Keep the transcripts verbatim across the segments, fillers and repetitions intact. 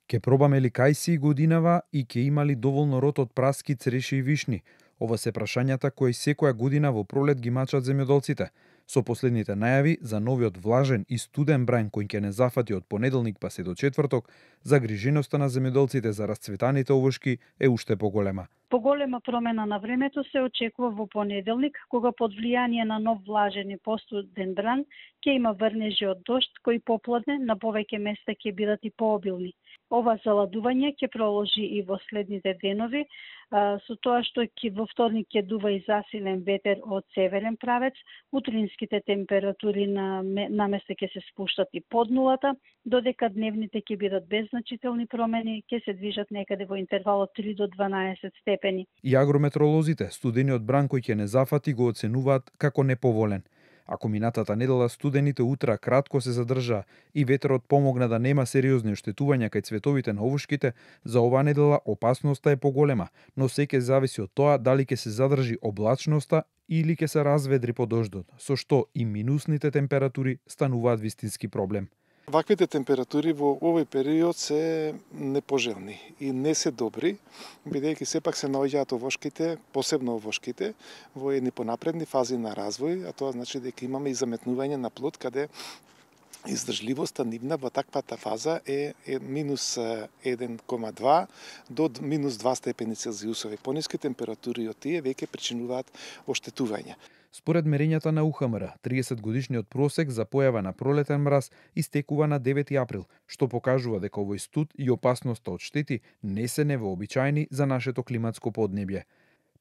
Ке пробаме ли кајси годинава и ке има ли доволно род од праски, цреши и вишни? Ова се прашањата кои секоја година во пролет ги мачат земјоделците. Со последните најави за новиот влажен и студен брајн кој ќе не зафати од понеделник па се до четврток, загриженоста на земјоделците за расцветаните овошки е уште поголема. Поголема промена на времето се очекува во понеделник, кога под влијание на нов влажен и постуден бран ќе има врнежи од дожд кои попладне на повеќе места ќе бидат и пообилни. Ова заладување ќе проложи и во следните денови, со тоа што ќе во вторник ќе дува и засилен ветер од северен правец, утринските температури на наместо ќе се спуштат и под нулата, додека дневните ќе бидат без значителни промени, ќе се движат некаде во интервал од три до дванаесет степени. И агрометролозите студениот бран кој ќе не зафати го оценуваат како неповолен. Ако минатата недела студените утра кратко се задржаа и ветерот помогна да нема сериозни оштетувања кај цветовите на овошките, за оваа недела опасноста е поголема, но се ќе зависи од тоа дали ќе се задржи облачноста или ќе се разведри по дождот, со што и минусните температури стануваат вистински проблем. Ваквите температури во овој период се непожелни и не се добри, бидејќи сепак се наоѓаат овошките, посебно овошките, во едни понапредни фази на развој, а тоа значи дека имаме и заметнување на плод, каде издржливоста нивна во таквата фаза е, е минус еден кома два до минус два степени Целзиусови. Пониски температури од тие веќе причинуваат оштетување. Според мерењата на У Х М Р, триесет годишниот просек за појава на пролетен мраз истекува на девети април, што покажува дека овој студ и опасноста од штети не се невообичаени за нашето климатско поднебје.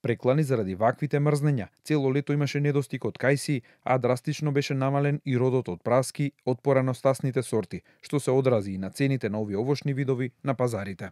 Преклани заради ваквите мрзнења, цело лето имаше недостиг од кајси, а драстично беше намален и родот од праски од пораностасните сорти, што се одрази и на цените на овие овошни видови на пазарите.